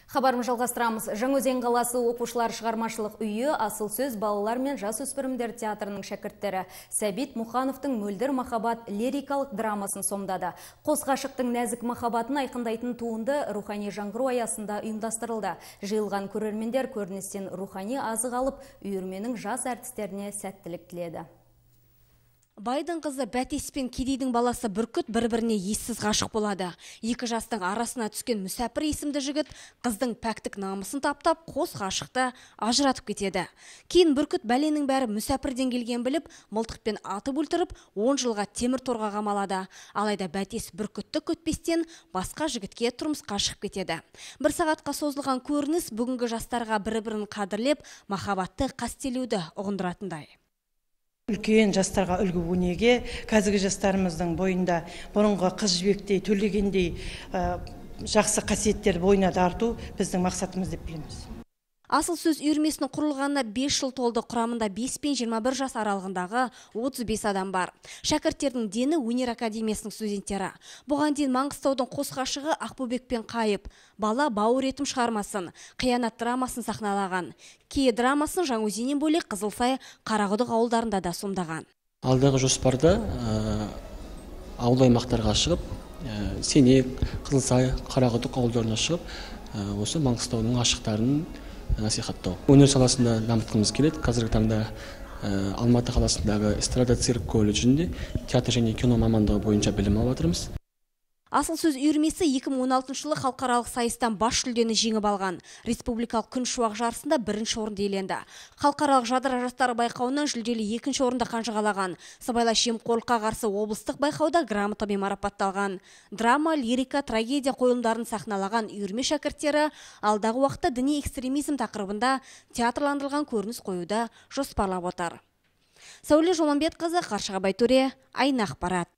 Хабарым жалғастырамыз. Жаңаөзен қаласы оқушылар шығармашылық үйі асыл сөз балалар мен жасөспірімдер театрының шәкірттері Сәбит Мұхановтың Мөлдір махаббат лирикалық драмасын сомдады. Қос ғашықтың нәзік махаббатын айқындайтын туынды рухани жаңғыру аясында ұйымдастырылды. Жиылған көрермендер көріністен рухани азық алып, үйірменің жас әртістеріне сәттілік тіледі. Байдың қызы Бәтес пен Кедейдің баласы Бүркіт бір-біріне ессіз ғашық болады. Екі жастың арасына түскен Мүсәпір есімді жігіт қыздың пәктік намысын таптап, қос ғашықты ажыратып кетеді. Кейін Бүркіт бәленің бәрі Мүсәпірден келген біліп, мылтықпен атып өлтіріп, 10 жылға темір торға қамалады. Алайда Бәтес Бүркітті күтпестен басқа жігітке тұрмысқа шығып кетеді. Бір сағатқа созылған көрініс бүгінгі жастарға бір-бірін қадірлеп, махаббатты қастелеуді ұғындыратындай. Үлкен жастарға үлгі өнеге, қазіргі жастарымыздың бойында бұрынғы қыз жібектей, төлегендей жақсы қасиеттер бойына тарту біздің мақсатымыз деп білеміз. Асыл сөз үйірмесінің құрылғанына 5 жыл толды. Құрамында 5 пен 21 жас аралығындағы 35 адам бар. Шәкірттердің дені өнер академиясының студенттері. Бұған дейін Маңғыстаудың қос ғашығы Ақбөбек пен Қайып бала бауыр етім шығармасын, қиянат драмасын сахналаған. Кей драмасын Жаңаөзеннен бөлек Қызылсай, Қарақұдық ауылдарында да сомдаған. Алдағы жоспарда ауыл аймақтарға шығып, Сенек, Қызылсай, Қарақұдық ауылдарына шығып, осы Маңғыстаудың ғашықтарын насихаттау. Өнер саласында дамытқымыз келеді. Қазіргі таңда Алматы қаласындағы эстрада цирк колледжінде театр және кино мамандығы бойынша білім алып жатырмыз. Асыл сөз үйірмесі 2016 жылы халықаралық сайыстан бас жүлдені жеңіп алған. Республикалық күн шуақ жарысында 1-ші орынды иеленді. Халықаралық жадыра жастары байқауынан жүлделі 2-ші орынды қанжығалаған. Сыбайлас жемқорлыққа қарсы облыстық байқауда грамотамен марапатталған. Драма, лирика, трагедия қойылымдарын сахналаған үйірме шәкірттері алдағы уақытта діни экстремизм тақырыбында театрландырылған көрініс қоюды жоспарлап отыр. Сәуле Жоманбетқызы, Қаршыға Байтөре, Айна ақпарат.